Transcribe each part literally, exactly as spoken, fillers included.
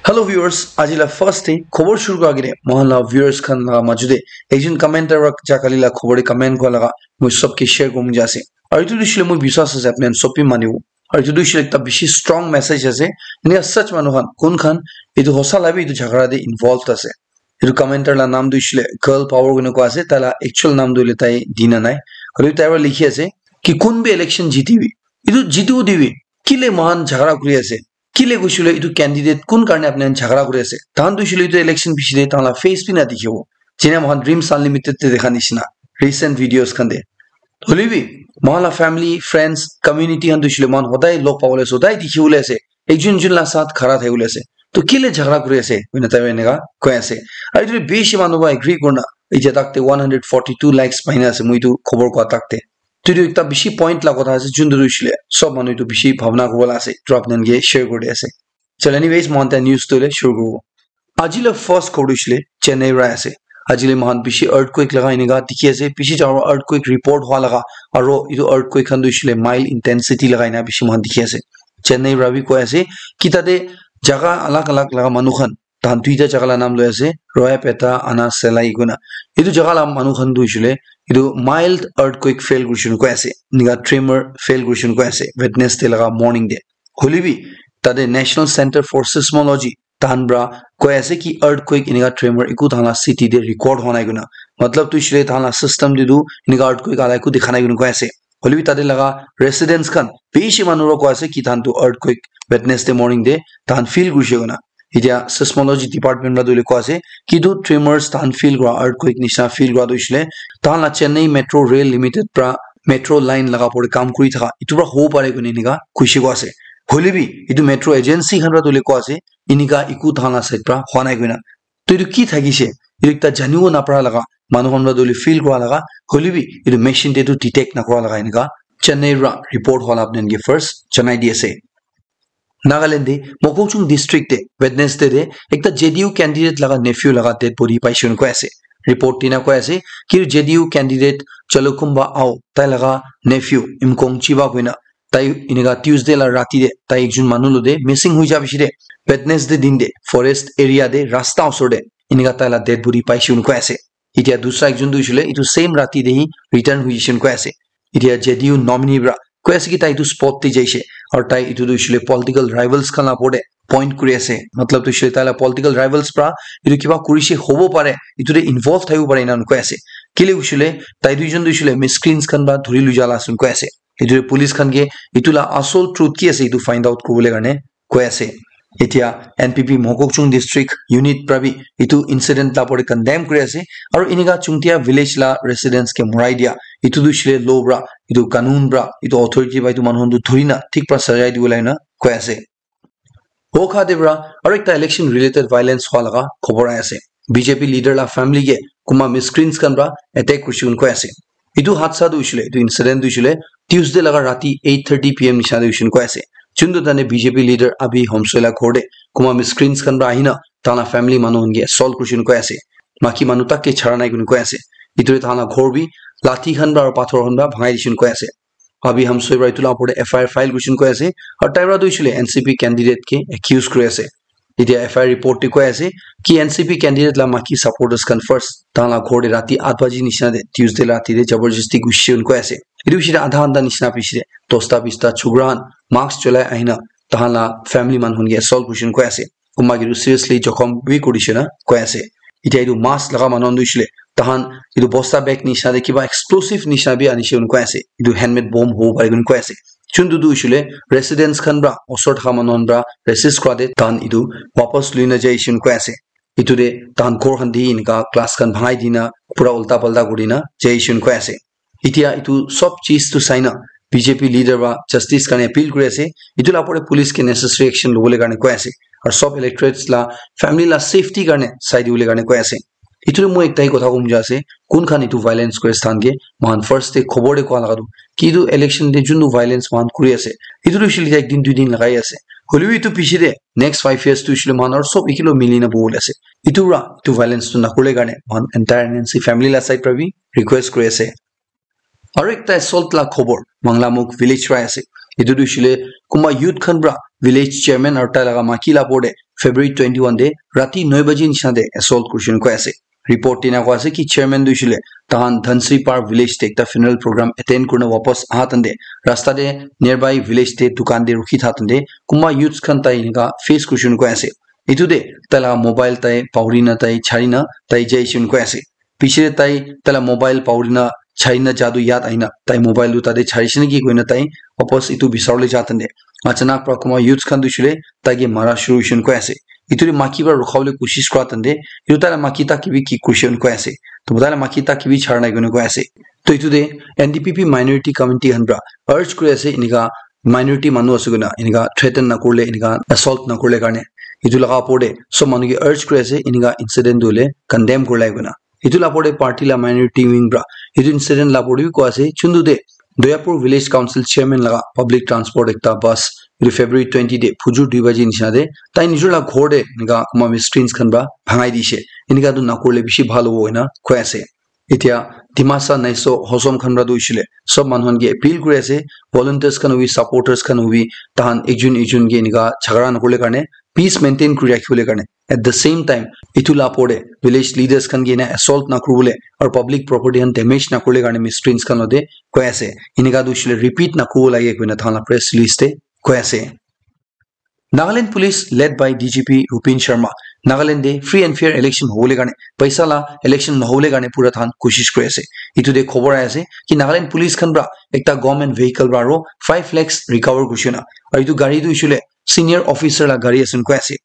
Hello viewers, aji la first te khobor shuru kura agete mohan la viewers khan la maju te ekjon commenter wa ja kali la khobor te comment kura laga moi sob ke share kurim ja ase. Aru etu tu shile moi biswas ase apni khan sob bi manibo. Aru etu tu shile ekta bishi strong message ase. Enika sach manu khan kun khan etu hosa la bi etu jhagara te involved ase. Etu commenter la naam tu shile Girl Power koi kena koi ase, tai la actual naam tu hoile tai dina nai. Aru tai para likhi ase ki kun bi election jiti bi, etu jitu dibi, kile mohan jhagara kuri ase, kile koishe koile etu candidate kun karne apni khan jhagara kuri ase. Tahan tu hoishe koile etu election piche te tahan la face bi na dikhibo. Jene moikhan Dreams Unlimited te dekha nishina, recent videos khan te. Hoile bi, moikhan la family, friends, community khan tu hoishe koile moikhan hodai log pabole ase, hodai dikhibole ase, ekjon ekjon la sath khara thakibole ase. To kile jhagara kuri ase, koina tai eneka koi ase. Aru etu bishi manu para agree kurina, etia tak te one hundred forty-two likes paina ase, moi etu khobor koa tak te. To etu ekta bishi point la kotha ase, juntu tu hoishe koile sob manu etu bishi bhabna kuribo la ase, etu apni khan ke share kuri di ase. So anyways, moikhan tai news tu le shuru kuribo. Aji la first khobor tu hoishe koile Chennai para ase. Aji le moikhan bishi earthquake laga eneka dikhi ase, bishi dangor earthquake report hua laga, aro etu earthquake khan tu hoishe koile mild intensity laga ena bishi moikhan dikhi ase. Chennai para bi koi ase ki tate jaga alag alag laga manu khan, tahan duita jaga la naam loi ase, Royapeta, Anna Selai koina. Etu jaga la manu khan tu hoishe koile etu mild earthquake feel kurishe koina koi ase, eneka tremor feel kurishe koina koi ase Wednesday laga morning te. Hoile bi tate National Center for Seismology tahan para koi ase ki earthquake eneka tremor eku tahan la city te record hua nai koina. Matlab tu hoishe koile tahan la system te tu eneka earthquake ala eku dikha nai koina koi ase. Hoile bi tate laga residents khan bishi manu para koi ase ki tahan tu earthquake Wednesday morning te tahan feel kurishe koina. Etia seismology department para tu hoile koi ase ki tu tremors tahan feel kura, earthquake nishina feel kura tu hoishe koile tahan la Chennai Metro Rail Limited para metro line laga opor te kam kuri thaka etu para hobo pare koina eneka koishe koi ase. Hoile bi etu metro agency khan para tu hoile koi ase eneka eku tahan la side para hua nai koina. To etu ki thakishe, etu ekta janibo napara laga, manu khan para tu hoile feel kura laga, hoile bi etu machine te tu detect nakura laga eneka Chennai para report hua la apni khan ke first janai di ase. Nagaland te Mokokchung district te Wednesday te ekta J D U candidate laga nephew laga dead body paishe koina koi ase. Report te ena koi ase ki J D U candidate Chalukumba Ao, tai laga nephew Imkong Chiba koina, tai eneka Tuesday la rati te tai ekjon manu lo te missing hoi ja piche te Wednesday din te forest area te rasta osor te eneka tai la dead body paishe koina koi ase. Etia dusra ekjon tu hoishe koile etu same rati te hi return hoi jaishe koina koi ase. Etia J D U nominee para koi ase ki tai etu spot te jaishe, aru tai etu tu hoishe koile political rivals khan la opor te point kuri ase. Matlab tu hoishe koile tai la political rivals para etu kiba kurishe hobo pare, etu te involve thakibo pare ena koi ase. Kile hoishe koile tai duijon tu hoishe koile miscreants khan para dhuri loi ja la ase koina koi ase. Etu te police khan ke etu la asol truth ki ase etu find out kuribole karne koi ase. Etia N P P Mokokchung district unit para bi etu incident la opor te condemn kuri ase, aru eneka Chungtia village la residents ke morai dia etu tu hoishe koile law para, etu kanun para, etu authority para etu manu khan tu dhuri na thik para sajai dibo lage na koi ase. Wokha te para aru ekta election related violence hua laga khobor ahi ase. B J P leader la family ke kunba miscreants khan para attack kurishe koina koi ase. Etu hadsa tu hoishe koile, etu incident tu hoishe koile Tuesday laga rati eight thirty P M nishina te hoishe koina koi ase. Juntu tane B J P leader Abhi Hamsoe la ghor te kunba miscreants khan para ahina tahan la family manu khan ke assault kurishe koina koi ase. Maki manu tak ke chara nai koina koi ase. Etu te tahan la ghor bi lathi khan para aru pathor khan para bhangai dishe koina koi ase. Abhi Hamsoe para etu la opor te F I R file kurishe koina koi ase. Aru tai para tu hoishe koile N C P candidate ke accuse kuri ase. Etia F I R report te koi ase ki N C P candidate la maki supporters khan first tahan la ghor te rati eight baji nishina te Tuesday la rati te jabardasti gushe koina koi ase. Etu piche te adha ghanta nishina piche te dosta bista chokra khan mask cholai ahina tahan la family manu khan ke assault kurishe koina koi ase. Kunba ke tu seriously jokhom bi kurishe koina koi ase. Etia etu mask laga manu khan tu hoishe koile tahan etu bosta bag nishina te kiba explosive nishina bi anishe koina koi ase. Etu handmade bomb hobo pare koina koi ase. Juntu tu hoishe koile residents khan para osor thaka manu khan para resist kura te tahan etu wapas loi na jaishe koina koi ase. Etu te tahan ghor khan te eneka glass khan bhangai dina pura ulta palta kuri na jaishe koina koi ase. Etia etu sob cheez tu sai na B J P leader para justice karne appeal kuri ase. Etu la opor te police ke necessary action lobole karne koi ase. Aru sob electorates la family la safety karne sai dibole karne koi ase. Etu te moi ekta hi kotha kobole mon jai ase, kun khan etu violence kuri ase tahan ke, moikhan first te khobor te koa laga tu ki etu election te juntu violence moikhan kuri ase, etu tu hoishe koile ek din dui din lagai ase. Hoile bi etu piche te next five years tu hoishe koile moikhan aru sob ekilog mili na bohibole ase. Etu para etu violence tu nakuribole karne moikhan entire N C family la side para bi request kuri ase. Aru ekta assault la khobor Manglamukh village para ase. Etu tu hoishe le kunba youth khan pra village chairman aru tai laga maki la opor te February twenty-one te rati nine baji nisina te assault kurishe koina koi ase. Report te ena koi ase ki chairman tu hoishe le tahan Dhansiri Par village te ekta funeral program attend kurina wapas aha time te rasta te nearby village te dukan te rukhi tha time te kunba youths khan tai enika face kurishe koina koi ase. Etu te tai laga mobile tai pahuri na tai chari na tai jaishe koina koi ase. Piche te tai tai laga mobile pahuri na chari na ja tu yat ahina tai mobile tu tate charishe naki koina tai wapas etu bisaribole ja time te achanak pra kunba youths khan tu hoishe le tai ke mara shuru hoishe koina koi ase. Etu te maki pra rukha bole koshish kura time te etu tai laga maki tak ke bi ki kurishe koina koi ase. To tai laga maki tak ke bi chara nai koina koi ase. To etu te N D P P minority community khan pra urge kuri ase enika minority manu ase koina enika threaten na kurile enika assault na kurile karne. Etu laga opor te sob manu ke urge kuri ase enika incident tu hoile condemn kurile koina. Etu la opor te party la minority wing pra etu incident la opor te bi koi ase chuntu te Doyapur village council chairman laga public transport ekta bus etu February twenty te phujur dui baji nisina te tai nijor la ghor te enika kunba miscreants khan pra bhangai dishe. Enika tu na kurile bishi bhal hobo koina koi ase. Etia Dimasa Naiso Hosom khan pra tu hoishe le sob manu khan ke appeal kuri ase, volunteers khan hobi, supporters khan hobi, tahan ekjun ekjun ke enika jhagara na kurile karne, peace maintain kuri rakhibole karne. At the same time, etu la opor te village leaders khan ke ena assault na kuribole aru public property khan damage na kurile karne miscreants khan logote koi ase. Enika tu hoishe le repeat na kuribo lage koina tahan la press release te koi ase. Nagaland Police led by D G P Rupin Sharma, Nagaland te free and fair election hobole karne, paisa la election nohobole karne pura tahan koshish kuri ase. Etu te khobor ahi ase ki Nagaland Police khan pra ekta government vehicle pra aru five lakhs recover kurishe na. Aru etu gari tu hoishe le senior officer la gari ase koi ase.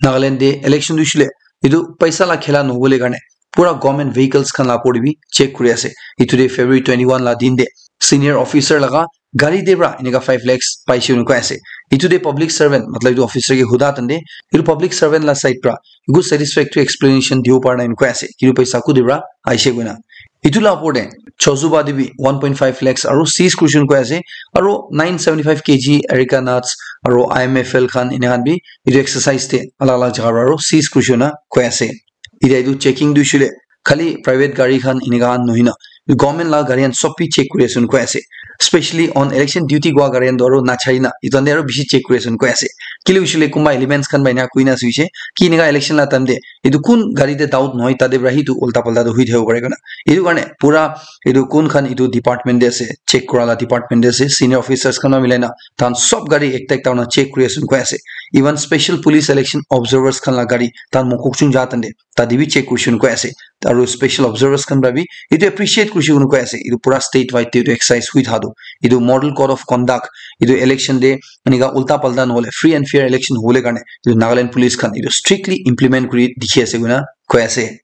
Nagaland te election tu hoishe le etu paisa la khela nohobole karne pura government vehicles khan la opor te bi check kuri ase. Etu te February twenty-one la din te senior officer laga gari te pra enika five lakhs paishe koina koi ase. Etu te public servant, matlab etu officer ke huda time te etu public servant la side pra eku satisfactory explanation dibo para nai koina koi ase. Etu paisa kute pra aishe koina. Etu la opor te Chozuba te bi one point five lakhs aru seize kurishe koina koi ase. Aru nine seventy-five K G Areca nuts aru I M F L khan ena khan bi etu exercise te alag alag jaga pra aru seize kurishe koina koi ase. Etia etu checking tu hoishe le khali private gari khan enika khan nohoi na government la gari khan sob bi check kuri ase koina koi ase. Specially on election duty kura gari khan tu aru nachari na etu khan te aru bishi check kuri ase koina koi ase. Kile hoishe le kunba elements khan pra ena koina ase hoishe ki enika election la time te etu kun gari te doubt nohoi tate pra hi etu ulta palta tu hoi thakibo pare koina. Etu karne pura etu kun khan etu department te ase, check kura la department te ase, senior officers khan pra milai na tahan sob gari ekta ekta kurina check kuri ase koina koi ase. Even special police election observers khan la gari tahan Mokokchung ja time te tate bi check kurishe koina koi ase. Aru special observers khan pra bi etu appreciate kurishe koina koi ase. Etu pura state wide te etu exercise hoi tha tu. Etu model code of conduct, etu election te enika ulta palta nohole free and fair election hobole karne etu Nagaland Police khan etu strictly implement kuri dikhi ase koina koi ase.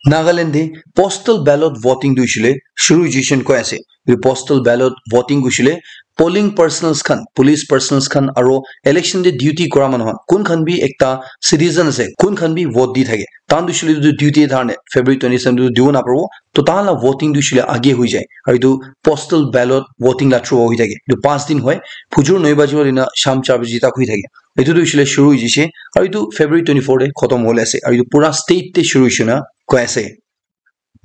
Nagaland te postal ballot voting tu hoishe le shuru hoishe koina koi ase. Etu postal ballot voting tu hoishe le polling personnels khan, police personnels khan aru election te duty kura manu khan kun khan bi ekta citizen ase, kun khan bi vote di thake. Tahan tu hoishe le etu duty karne February twenty-seven tu dibo naparibo. To tahan la voting tu hoishe le age hoi jai. Aru etu postal ballot voting la through hoi thake. Etu panch din hoi, phujur nine baji pra loi na sham char baji tak hoi thake. Etu tu hoishe le shuru hoi jaise. Aru etu February twenty-four te khotom hobole ase. Aru etu pura state te shuru hoishe koina koi ase.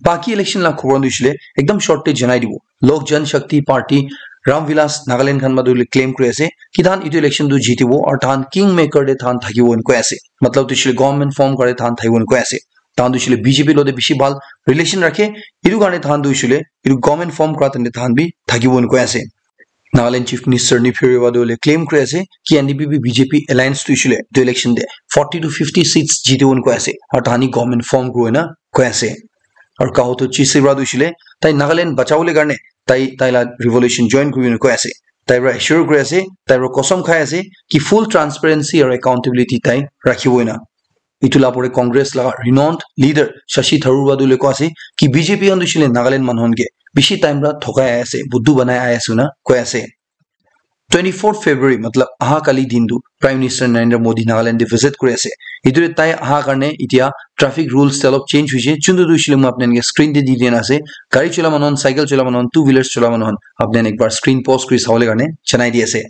Baki election la khobor tu hoishe le ekdam short te janai dibo. Lok Jan Shakti Party Ram Vilas Nagaland khan pra tu claim kuri ase ki tahan etu election tu jitibo aru tahan kingmaker te tahan thakibo koina koi ase. Matlab tu hoishe le government form kura te tahan thakibo koina koi ase. Tahan tu hoishe le B J P logote bishi bhal relation rakhe. Etu karne tahan tu hoishe le etu government form kura time te tahan bi thakibo koina koi ase. Nagaland Chief Minister Neiphiu Rio pra tu hoile claim kuri ase ki N D P P B J P alliance tu hoishe le etu election te forty to fifty seats jitibo koina koi ase aru tahan government form kuribo koina koi ase. Aru Kao Tochi Sibra tu hoishe le tai Nagaland bachawole karne tai tai la revolution join kuribo koina koi ase. Tai pra assure kuri ase, tai pra kosam khai ase ki full transparency aru accountability tai rakhibo koina. Etu la opor te Congress laga renowned leader Shashi Tharoor pra tu hoile koi ase ki B J P khan tu hoishe le Nagaland manu khan ke bishi time pra thokai ahi ase, buddu banai ahi ase koina koi ase. Twenty-fourth February, matlab aha kali din tu Prime Minister Narendra Modi Nagaland te visit kuri ase. Etu te tai aha karne etia traffic rules te olop change hoise. Chuntu tu hoishe le moi apni khan ke screen te di dina ase. Gari chola manu khan, cycle chola manu khan, two wheelers chola manu khan, apni khan ekbar screen pause kuri sabole karne janai di ase.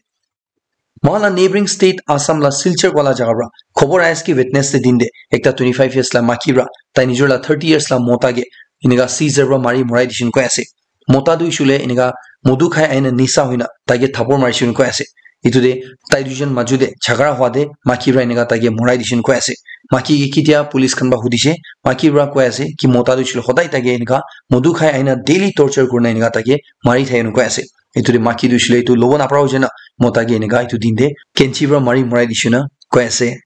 Moikhan la neighboring state Assam la Silchar wala jaga pra khobor ahi ase ki Wednesday din te ekta twenty-five years la maki pra tai nijor la thirty years la mota ke enika scissor pra mari morai dishe koina koi ase. Mota tu hoishe le enika modu khai aina nisa hoina taike thapor marishe koi ase. Etu te tai duijon maju te jhagara hua te maki para enika taike morai dishe koi ase. Maki ke kitia police khan para hudishe, maki para koi ase ki mota tu hoishe le hodai taike enika modu khai aina daily torture kurina enika taike mari thake koi ase. Etu te maki tu hoishe le etu lobo napara hoise na, mota ke enika etu din te kenchi para mari morai dishe na koi ase.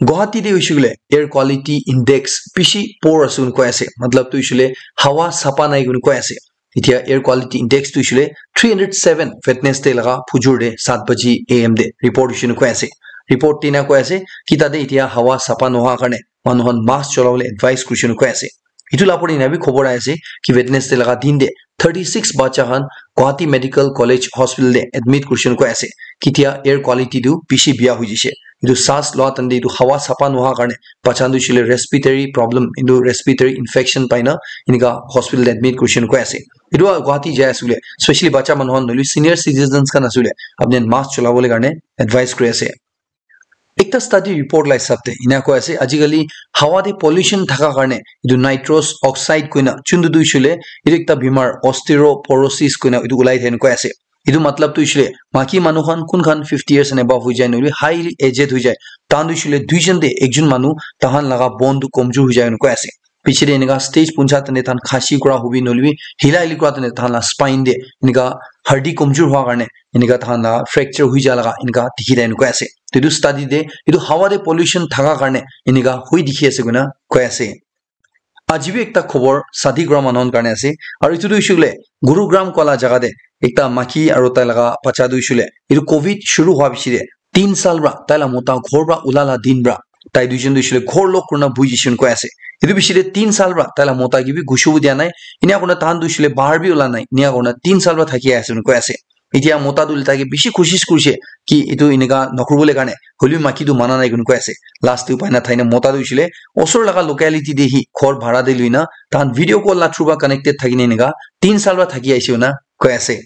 Guwahati te hoishe koile air quality index bishi poor ase koi ase, matlab tu hoishe koile hawa sapa nai koi ase. Etia air quality index tu hoishe koile three hundred seven Wednesday laga phujur te seven baji A M te report hoishe koi ase. Report te ena koi ase ki tate etia hawa sapa noha karne manu khan mask cholabole advice kurishe koi ase. Etu la opor te ena bi khobor ahi ase ki Wednesday laga din te thirty six bacha khan Guwahati Medical College Hospital te admit kurishe koi ase. Kitia air quality tu bishi biya hoi jishe. Etu saas loa time te etu hawa sapa noha karne bacha tu hoishe koile respiratory problem, etu respiratory infection pai na enika hospital te admit kurishe koi ase. Etu Guwahati jai ase koile, specially bacha manu khan nohoile senior citizens khan ase koile, apni khan mask cholabole karne advice kuri ase. Ekta study report la hisab te ena koi ase, ajikali hawa te pollution thaka karne etu nitrous oxide koina chundu tu hoishe koile etu ekta bimar osteoporosis koina etu ulai thake koi ase. Etu matlab tu hoishe koile maki manu khan kun khan fifty years and above hoi jai nohoile highly aged hoi jai, tahan tu hoishe koile duijon te ekjon manu tahan laga bone tu komjor hoi jai koi ase. Piche te enika stage puncha tene tahan khasi kura hobi nohoile bi hila hili kura tene tahan la spine te enika hardi komjor hua karne enika tahan la fracture hoi ja laga enika dikhi thake koi ase. To etu study te etu hawa te pollution thaka karne enika hoi dikhi ase koina koi ase. Aji bi ekta khobor sadi kura manu khan karne ase. Aru etu tu hoishe koile Gurugram kola jaga te ekta maki aru tai laga bacha tu hoishe koile etu covid shuru hua piche te tin saal para tai la mota ghor para ula la din para tai duijon tu hoishe koile ghor lock kurina buhi jishe koi ase. Etu piche te tin saal para tai la mota ke bi gushibo dia nai. Ena kurina tahan tu hoishe koile bahar bi ula nai. Ena kurina tin saal para thaki ase koi ase. Etia mota tu hoile taike bishi koshish kurishe ki etu enika nakuribole karne, hoilebi maki tu mana nai koi ase. Last te upai nathaki na mota tu hoishe koile osor laga locality te hi ghor bhara te loina tahan video call la through para connected thaki na enika tin saal para thaki aise koina koi ase.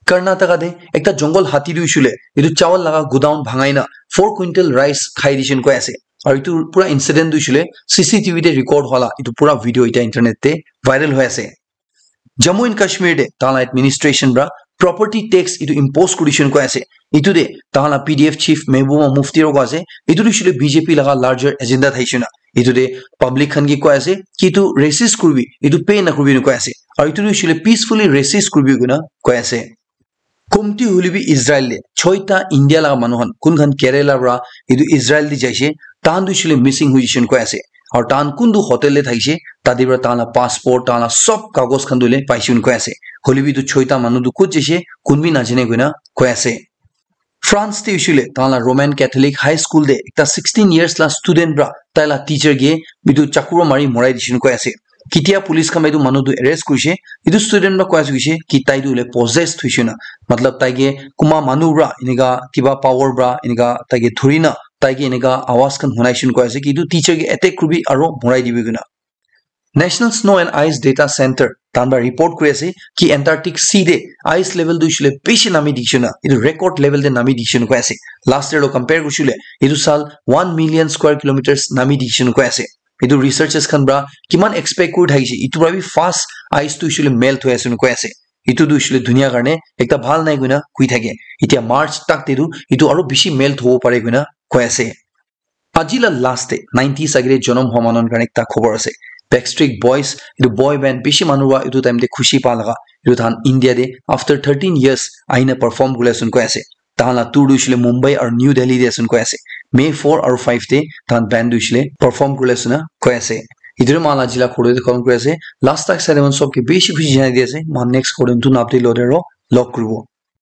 Karnataka te ekta jungle hati tu hoishe koile etu chawal laga godown bhangai na four quintal rice khai dishe koi ase. Aru etu pura incident tu hoishe koile C C T V te record hua la etu pura video eta internet te viral hoi ase. Jammu and Kashmir te tahan la administration para property tax etu impose kuri dishe koi ase. Etu te tahan la P D F chief Mehbooba Mufti ro koi ase, etu tu hoishe koile B J P laga larger agenda thakishe na. Etu te public khan ke koi ase ki etu resist kuribi, etu pay nakuribi koi ase. Aru etu tu hoishe koile peacefully resist kuribi koina koi ase. Komti hoile bi Israel te choita India laga manu khan kun khan Kerala para etu Israel te jaise, tahan tu hoishe koile missing hoi jishe koi ase. Aru tahan kuntu hotel te thakishe, tate para tahan la passport, tahan la sob kagos khan tu hoile paishe koi ase. Hoile bi etu choita manu tu kot jaise, kun bi najane koina koi ase. France te hoishe koile tahan la Roman Catholic High School te ekta sixteen years la student para tai la teacher ke etu chaku para mari morai dishe koi ase. Kitia police khan etu manu tu arrest kurishe, etu student para koi ase koishe ki tai tu hoile possessed hoishe na. Matlab tai ke kunba manu para enika kiba power para enika tai ke dhuri na tai ke enika awaz khan hunaishe koi ase ki etu teacher ke attack kuribi aru morai dibi koina. National Snow and Ice Data Center tahan para report kuri ase ki Antarctic Sea te ice level tu hoishe koile bishi nami dikhishe na, etu record level te nami dikhishe koi ase. Last year lo compare kurishe koile etu saal one million square kilometers nami dikhishe koi ase. Etu researchers khan para kiman expect kuri thakishe, etu para bi fast ice tu hoishe koile melt hoi ase koi ase. Etu tu hoishe koile dunia karne ekta bhal nai koina koi thake. Etia March tak te tu etu aru bishi melt hobo pare koina koi ase. Aji la last te nineties agere jonom hua manu khan karne ekta khobor ase. Backstreet Boys, etu boy band bishi manu para etu time te khushi pa laga, etu tahan India te after thirteen years ahina perform kuri ase koi ase. Tahan la tour tu hoishe koile Mumbai aru New Delhi te ase koi ase. May four aru five te tahan band tu hoishe koile perform kuri ase na koi ase. Etu tu moikhan la aji la khobor tu khatam kuri ase. Last tak sai le moikhan sob ke bishi khushi janai di ase. Moikhan next khobor tu notun update loi te aru log kuribo.